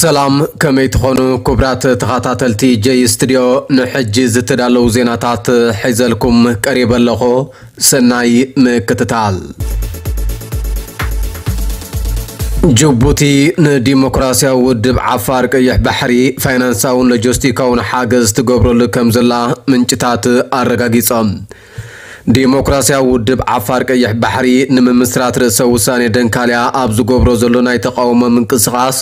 ሰላም፣ ከመይ ትኾኑ ክቡራት ተኸታተልቲ ጀይ ስቱድዮ? ንሕጂ ዝተዳለዉ ዜናታት ሒዘልኩም ቀሪበ ኣለኹ። ሰናይ ምክትታል። ጅቡቲ ንዲሞክራሲያዊ ውድብ ዓፋር ቀይሕ ባሕሪ ፋይናንሳውን ሎጂስቲካውን ሓገዝ ትገብረሉ ከም ዘላ ምንጭታት ኣረጋጊጾም። ዲሞክራሲያዊ ውድብ ዓፋር ቀይሕ ባሕሪ ንምምስራት ርእሰ ውሳኔ ደንካልያ ኣብ ዝገብሮ ዘሎ ናይ ተቃውሞ ምንቅስቃስ፣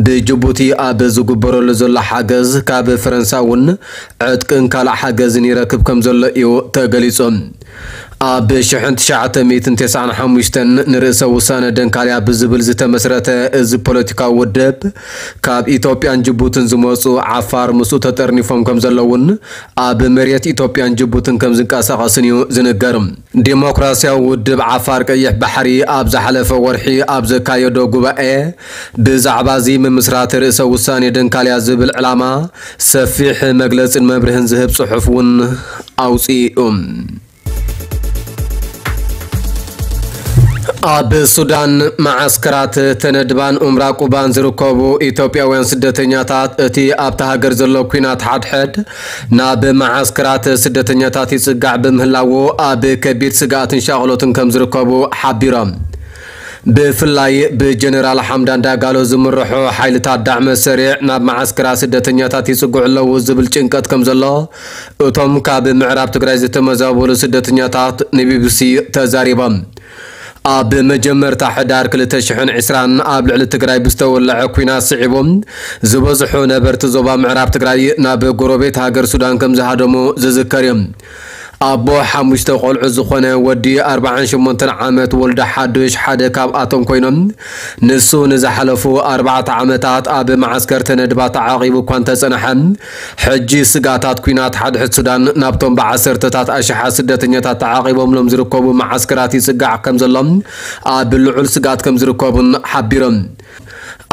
ብጅቡቲ ኣብ ዝግበረሉ ዘሎ ሓገዝ ካብ ፈረንሳ እውን ዕጥቅን ካልእ ሓገዝን ይረክብ ከም ዘሎ እዩ ተገሊጹ። ኣብ ሽሕን ትሽዓተ ሚእትን ተስዓን ሓሙሽተን ንርእሰ ውሳነ ደንካልያ ብዝብል ዝተመስረተ እዚ ፖለቲካዊ ውድብ፣ ካብ ኢትዮጵያን ጅቡትን ዝመጹ ዓፋር ምስኡ ተጠርኒፎም ከም ዘለውን ኣብ መሬት ኢትዮጵያን ጅቡትን ከም ዝንቀሳቐስን እዩ ዝንገር። ዲሞክራሲያዊ ውድብ ዓፋር ቀይሕ ባሕሪ ኣብ ዝሓለፈ ወርሒ ኣብ ዘካየዶ ጉባኤ፣ ብዛዕባ እዚ ምምስራት ርእሰ ውሳኔ ደንካልያ ዝብል ዕላማ ሰፊሕ መግለጽን መብርህን ዝህብ ጽሑፍ እውን ኣውጺኡ። ኣብ ሱዳን መዓስከራት ተነድባን ኡምራ ቁባን ዝርከቡ ኢትዮጵያውያን ስደተኛታት፣ እቲ ኣብታ ሃገር ዘሎ ኲናት ሓድሕድ ናብ መዓስከራት ስደተኛታት ይጽጋዕ ብምህላዉ፣ ኣብ ከቢድ ስግኣትን ሻቕሎትን ከም ዝርከቡ ሓቢሮም። ብፍላይ ብጀነራል ሓምዳን ዳጋሎ ዝምርሑ ሓይልታት ዳዕመ ሰሪዕ ናብ መዓስከራት ስደተኛታት ይጽግዑ ኣለዉ ዝብል ጭንቀት ከም ዘሎ እቶም ካብ ምዕራብ ትግራይ ዝተመዛበሉ ስደተኛታት ንቢቢሲ ተዛሪቦም። ኣብ መጀመርታ ሕዳር ክልተ ሽሕን ዕስራን ኣብ ልዕሊ ትግራይ ብዝተወለዐ ኲናት ስዒቡ፣ ዝበዝሑ ነበርቲ ዞባ ምዕራብ ትግራይ ናብ ጎረቤት ሃገር ሱዳን ከም ዝሃደሙ ዝዝከር እዩ። ኣቦ ሓሙሽተ ቆልዑ ዝኾነ ወዲ ኣርባዓን ሸሞንተን ዓመት ወልደ ሓዱሽ ሓደ ካብኣቶም ኮይኖም፣ ንሱ ንዝሓለፉ ኣርባዕተ ዓመታት ኣብ መዓስከር ተነድባ ተዓቒቡ እኳ እንተጸንሐ፣ ሕጂ ስግኣታት ኲናት ሓድሕድ ሱዳን ናብቶም ብዓሰርተታት ኣሽሓት ስደተኛታት ተዓቒቦምሎም ዝርከቡ መዓስከራት ይጽጋዕ ከም ዘሎ፣ ኣብ ልዑል ስግኣት ከም ዝርከቡን ሓቢሮም።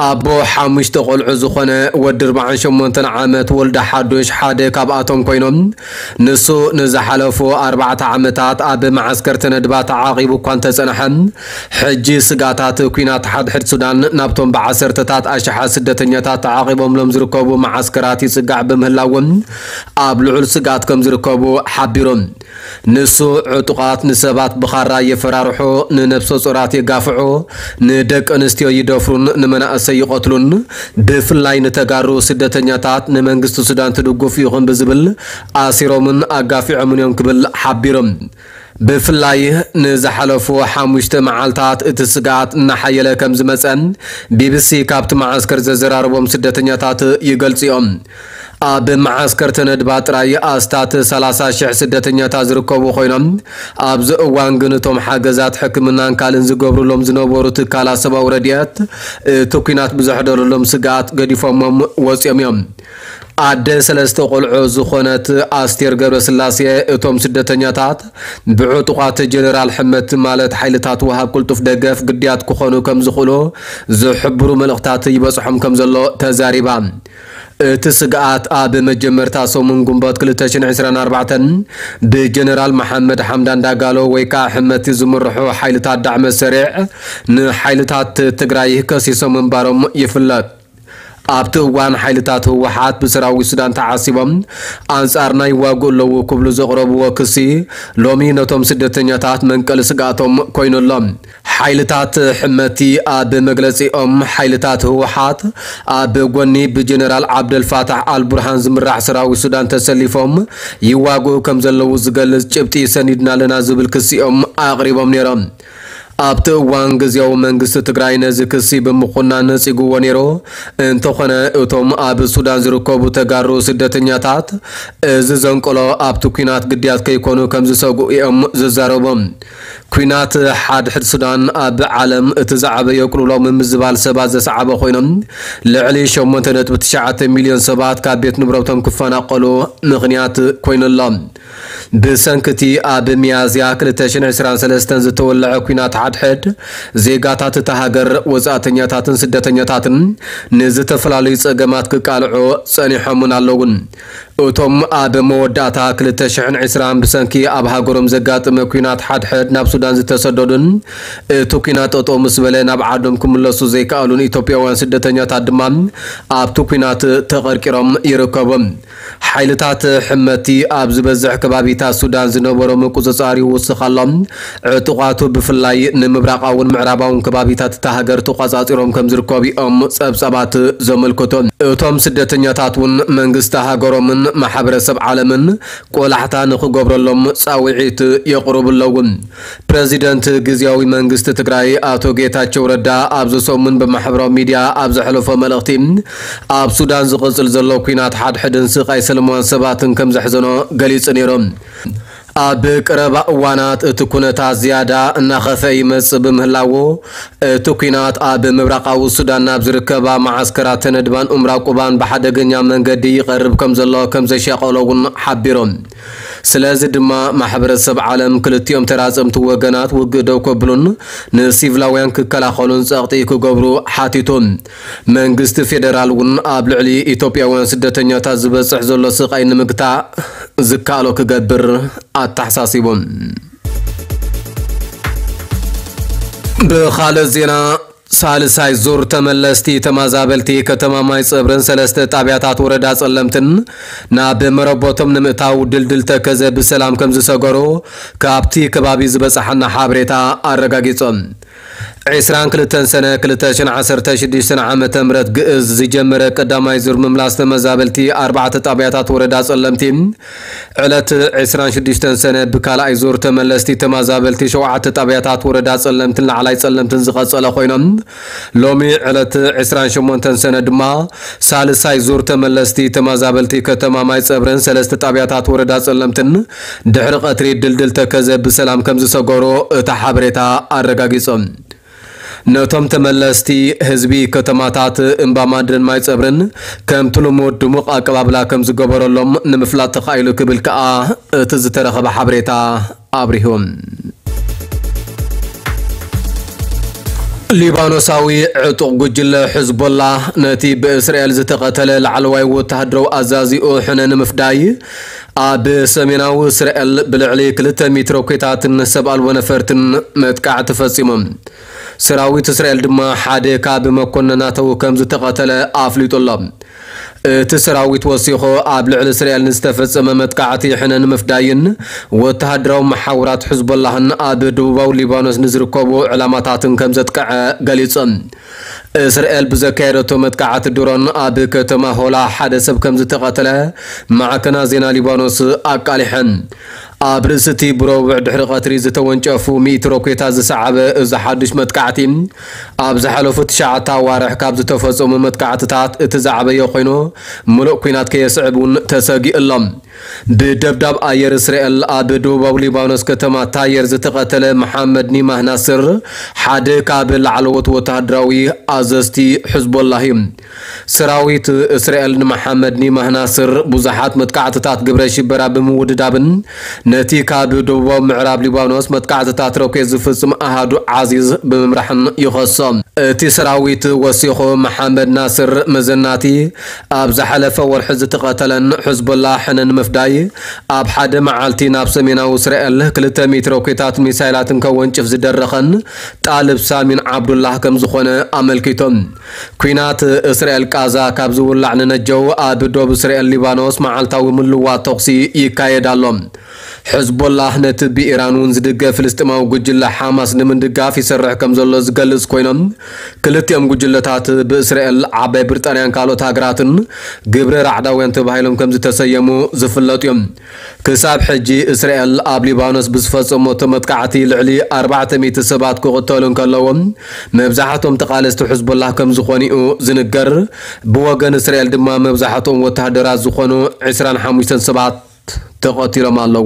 ኣቦ ሓሙሽተ ቆልዑ ዝኾነ ወዲ ኣርባዓን ሸሞንተን ዓመት ወልደ ሓዱሽ ሓደ ካብኣቶም ኮይኖም፣ ንሱ ንዝሓለፉ ኣርባዕተ ዓመታት ኣብ መዓስከር ተነድባ ተዓቒቡ እኳ እንተጸንሐ፣ ሕጂ ስግኣታት ኲናት ሓድሕድ ሱዳን ናብቶም ብዓሰርተታት ኣሽሓት ስደተኛታት ተዓቒቦምሎም ዝርከቡ መዓስከራት ይጽጋዕ ብምህላውን ኣብ ልዑል ስግኣት ከም ዝርከቡ ሓቢሮም። ንሱ፣ ዕጡቓት ንሰባት ብኻራ የፈራርሑ፣ ንነብሰ ጾራት የጋፍዑ፣ ንደቂ ኣንስትዮ ይደፍሩን ንመናእሰይ ይቐትሉን፣ ብፍላይ ንተጋሩ ስደተኛታት ንመንግስቲ ሱዳን ትድግፉ ኢኹም ብዝብል ኣሲሮምን ኣጋፊዖምን እዮም ክብል ሓቢሮም። ብፍላይ ንዝሓለፉ ሓሙሽተ መዓልታት እቲ ስግኣት እናሓየለ ከም ዝመጸ ቢቢሲ ካብቲ መዓስከር ዘዘራረቦም ስደተኛታት ይገልጹ እዮም። ኣብ መዓስከር ተነድባ ጥራይ ኣስታት ሰላሳ ሽሕ ስደተኛታት ዝርከቡ ኮይኖም፣ ኣብዚ እዋን ግን እቶም ሓገዛት ሕክምናን ካልእን ዝገብሩሎም ዝነበሩ ትካላት ሰብኣዊ ረድኤት፣ እቲ ኲናት ብዘሕደረሎም ስግኣት ገዲፎሞም ወጺኦም እዮም። ኣደ ሰለስተ ቆልዑ ዝኾነት ኣስቴር ገብረስላሴ፣ እቶም ስደተኛታት ብዕጡቓት ጀነራል ሕመቲ ማለት ሓይልታት ወሃብ ቅልጡፍ ደገፍ ግድያት ክኾኑ ከም ዝኽእሉ ዝሕብሩ መልእኽታት ይበጽሖም ከም ዘሎ ተዛሪባ። እቲ ስግኣት ኣብ መጀመርታ ሰሙን ግንቦት ክልተ ሽሕን ዕስራን ኣርባዕተን ብጀነራል መሓመድ ሓምዳን ዳጋሎ ወይ ከዓ ሕመቲ ዝምርሑ ሓይልታት ዳዕመ ሰሪዕ ንሓይልታት ትግራይ ከሲሶም ምንባሮም ይፍለጥ። ኣብቲ እዋን ሓይልታት ህወሓት ብሰራዊት ሱዳን ተዓሲቦም ኣንጻርና ይዋግኡ ኣለዉ ክብሉ ዘቕረብዎ ክሲ ሎሚ ነቶም ስደተኛታት መንቀሊ ስግኣቶም ኮይኑ ኣሎ። ሓይልታት ሕመቲ ኣብ መግለጺኦም፣ ሓይልታት ህወሓት ኣብ ጎኒ ብጀነራል ዓብደልፋታሕ ኣልቡርሃን ዝምራሕ ሰራዊት ሱዳን ተሰሊፎም ይዋግኡ ከም ዘለዉ ዝገልጽ ጭብጢ ሰኒድና ኣለና ዝብል ክሲኦም ኣቕሪቦም ነይሮም። ኣብቲ እዋን ግዜያዊ መንግስቲ ትግራይ ነዚ ክሲ ብምኹናን ነጺግዎ ነይሩ። እንተኾነ እቶም ኣብ ሱዳን ዝርከቡ ተጋሩ ስደተኛታት እዚ ዘንቀሎ ኣብቲ ኲናት ግድያት ከይኮኑ ከም ዝሰግኡ እዮም ዝዛረቡ። ኲናት ሓድሕድ ሱዳን ኣብ ዓለም እቲ ዝዓበየ ቅልውላው ምምዝባል ሰባት ዘስዓበ ኮይኖም፣ ልዕሊ ሸሞንተ ነጥቢ ትሽዓተ ሚልዮን ሰባት ካብ ቤት ንብረቶም ክፈናቀሉ ምኽንያት ኮይኑ ኣሎ። ብሰንክቲ ኣብ ሚያዝያ ክልተ ሽሕን ዕስራን ሰለስተን ዝተወልዐ ኲናት ሓድሕድ፣ ዜጋታት እታ ሃገር፣ ወጻእተኛታትን ስደተኛታትን ንዝተፈላለዩ ጸገማት ክቃልዑ ጸኒሖምን ኣለውን። እቶም ኣብ መወዳእታ ክልተ ሽሕን ዕስራን ብሰንኪ ኣብ ሃገሮም ዘጋጠመ ኲናት ሓድሕድ ናብ ሱዳን ዝተሰደዱን እቲ ኲናት ጠጠው ምስ በለ ናብ ዓዶም ክምለሱ ዘይከኣሉን ኢትዮጵያውያን ስደተኛታት ድማ ኣብቲ ኲናት ተቐርቂሮም ይርከቡ። ሓይልታት ሕመቲ ኣብ ዝበዝሕ ከባቢታት ሱዳን ዝነበሮ ምቁጽጻር ይውስኽ ኣሎ። ዕጡቓቱ ብፍላይ ንምብራቓውን ምዕራባውን ከባቢታት እታ ሃገር ተቖጻጺሮም ከም ዝርከቡ እዮም ጸብጻባት ዘመልክቱ። እቶም ስደተኛታት እውን መንግስቲ ሃገሮምን ማሕበረሰብ ዓለምን ቆላሕታ ንኽገብረሎም ጻውዒት የቕርቡ ኣለዉ። ፕረዚደንት ግዝያዊ መንግስቲ ትግራይ ኣቶ ጌታቸው ረዳ ኣብዚ ሰሙን ብማሕበራዊ ሚድያ ኣብ ዘሕለፎ መልእኽቲ፣ ኣብ ሱዳን ዝቕጽል ዘሎ ኲናት ሓድሕድን ስቓይ ሰለማውያን ሰባትን ከም ዘሕዘኖ ገሊጹ ነይሩ። ኣብ ቀረባ እዋናት እቲ ኩነታት ዝያዳ እናኸፍአ ይመጽእ ብምህላዉ፣ እቲ ኲናት ኣብ ምብራቓዊ ሱዳን ናብ ዝርከባ መዓስከራት ተነድባን ኡምራ ቁባን ብሓደገኛ መንገዲ ይቐርብ ከም ዘሎ ከም ዘሻቐሎ እውን ሓቢሮም። ስለዚ ድማ ማሕበረሰብ ዓለም ክልቲኦም ተራጸምቲ ወገናት ውግእ ደው ከብሉን ንሲቪላውያን ክከላኸሉን ጸቕጢ ክገብሩ ሓቲቱ። መንግስቲ ፌደራል እውን ኣብ ልዕሊ ኢትዮጵያውያን ስደተኛታት ዝበጽሕ ዘሎ ስቓይ ንምግታእ ዝከኣሎ ክገብር ኣተሓሳሲቡ። ብኻልእ ዜና፣ ሳልሳይ ዙር ተመለስቲ ተመዛበልቲ ከተማ ማይ ጸብርን ሰለስተ ጣብያታት ወረዳ ጸለምትን ናብ መረቦቶም ንምእታው ድልድል ተከዘ ብሰላም ከም ዝሰገሩ ካብቲ ከባቢ ዝበጽሓና ሓበሬታ ኣረጋጊጾም። ዕስራን ክልተን ሰነ ክልተ ሽሕን ዓሰርተ ሽዱሽተን ዓመተ ምህረት ግእዝ ዝጀመረ ቀዳማይ ዙር ምምላስ ተመዛበልቲ ኣርባዕተ ጣብያታት ወረዳ ጸለምቲ ዕለት ዕስራን ሽዱሽተን ሰነ ብካልኣይ ዙር ተመለስቲ ተመዛበልቲ ሸውዓተ ጣብያታት ወረዳ ጸለምትን ላዕላይ ጸለምትን ዝቐጸለ ኮይኖም፣ ሎሚ ዕለት ዕስራን ሸሞንተን ሰነ ድማ ሳልሳይ ዙር ተመለስቲ ተመዛበልቲ ከተማ ማይ ጸብረን ሰለስተ ጣብያታት ወረዳ ጸለምትን ድሕሪ ቀትሪ ድልድል ተከዘ ብሰላም ከም ዝሰገሩ እታ ሓበሬታ ኣረጋጊጾም። ነቶም ተመለስቲ ህዝቢ ከተማታት እምባ ማድረን ማይ ጸብርን ከምቲ ልሙድ ድሙቕ ኣቀባብላ ከም ዝገበረሎም ንምፍላጥ ተኻኢሉ ክብል ከኣ እቲ ዝተረኸበ ሓበሬታ ኣብሪሁ። ሊባኖሳዊ ዕጡቕ ጉጅለ ሕዝቦላ ነቲ ብእስራኤል ዝተቐተለ ላዕለዋይ ወተሃደራዊ ኣዛዚኡ ሕነ ንምፍዳይ ኣብ ሰሜናዊ እስራኤል ብልዕሊ ክልተ ሚእቲ ሮኬታትን ሰብ ኣልቦ ነፈርትን መጥቃዕቲ ፈጺሞም። ሰራዊት እስራኤል ድማ ሓደ ካብ መኮንናቱ ከም ዝተቐተለ ኣፍሊጡ ኣሎ። እቲ ሰራዊት ወሲኹ ኣብ ልዕሊ እስራኤል ንዝተፈጸመ መጥቃዕቲ ሕነ ንምፍዳይን ወተሃደራዊ መሓውራት ሕዝቦላህን ኣብ ደቡባዊ ሊባኖስ ንዝርከቡ ዕላማታትን ከም ዘጥቅዐ ገሊጹ። እስራኤል ብዘካየደቶ መጥቃዕቲ ድሮን ኣብ ከተማ ሆላ ሓደ ሰብ ከም ዝተቐተለ ማዕከናት ዜና ሊባኖስ ኣቃሊሐን። ኣብ ርእሲ እቲ ብረቡዕ ድሕሪ ቀትሪ ዝተወንጨፉ ሚእቲ ሮኬታት ዝሰዓበ እዚ ሓድሽ መጥቃዕቲ፣ ኣብ ዝሓለፉ ትሽዓተ ኣዋርሕ ካብ ዝተፈጸሙ መጥቃዕትታት እቲ ዝዓበየ ኮይኑ፣ ምሉእ ኲናት ከየስዕብ እውን ተሰጊኡ ኣሎ። ብደብዳብ ኣየር እስራኤል ኣብ ደቡባዊ ሊባኖስ ከተማ ታየር ዝተቐተለ መሓመድ ኒማህ ናስር ሓደ ካብ ላዕለዎት ወተሃደራዊ ኣዘዝቲ ሕዝቦላህ እዩ። ሰራዊት እስራኤል ንመሓመድ ኒማህ ናስር ብዙሓት መጥቃዕትታት ግብረ ሽበራ ብምውድዳብን ነቲ ካብ ደቡባዊ ምዕራብ ሊባኖስ መጥቃዕትታት ሮኬት ዝፍጽም ኣሃዱ ዓዚዝ ብምምራሕን ይኸሶ። እቲ ሰራዊት ወሲኹ፣ መሓመድ ናስር መዘናቲ ኣብ ዝሓለፈ ወርሒ ዝተቐተለን ሕዝቦላ ሕነ ንምፍዳይ ኣብ ሓደ መዓልቲ ናብ ሰሜናዊ እስራኤል ክልተ ሚእቲ ሮኬታት ሚሳይላትን ከወንጭፍ ዝደረኸን ጣልብ ሳሚን ዓብዱላህ ከም ዝኾነ ኣመልኪቶም። ኲናት እስራኤል ቃዛ ካብ ዝውላዕ ንነጀው ኣብ ዶብ እስራኤል ሊባኖስ መዓልታዊ ምልዋጥ ተኹሲ ይካየድ ኣሎ። ሕዝቦላህ ነቲ ብኢራን እውን ዝድገፍ ፍልስጤማዊ ጉጅለ ሓማስ ንምድጋፍ ይሰርሕ ከም ዘሎ ዝገልጽ ኮይኖም፣ ክልቲኦም ጉጅለታት ብእስራኤል፣ ዓባይ ብሪጣንያን ካልኦት ሃገራትን ግብረ ራዕዳውያን ተባሂሎም ከም ዝተሰየሙ ዝፍለጡ እዮም። ክሳብ ሕጂ እስራኤል ኣብ ሊባኖስ ብዝፈጸመቶ መጥቃዕቲ ልዕሊ ኣርባዕተ ሚእቲ ሰባት ክቕተሉ እንከለዉ፣ መብዛሕቶም ተቓለስቲ ሕዝቦላህ ከም ዝኾኑ እዩ ዝንገር። ብወገን እስራኤል ድማ መብዛሕትኦም ወተሃደራት ዝኾኑ ዕስራን ሓሙሽተን ሰባት ተቐቲሎም ኣለዉ።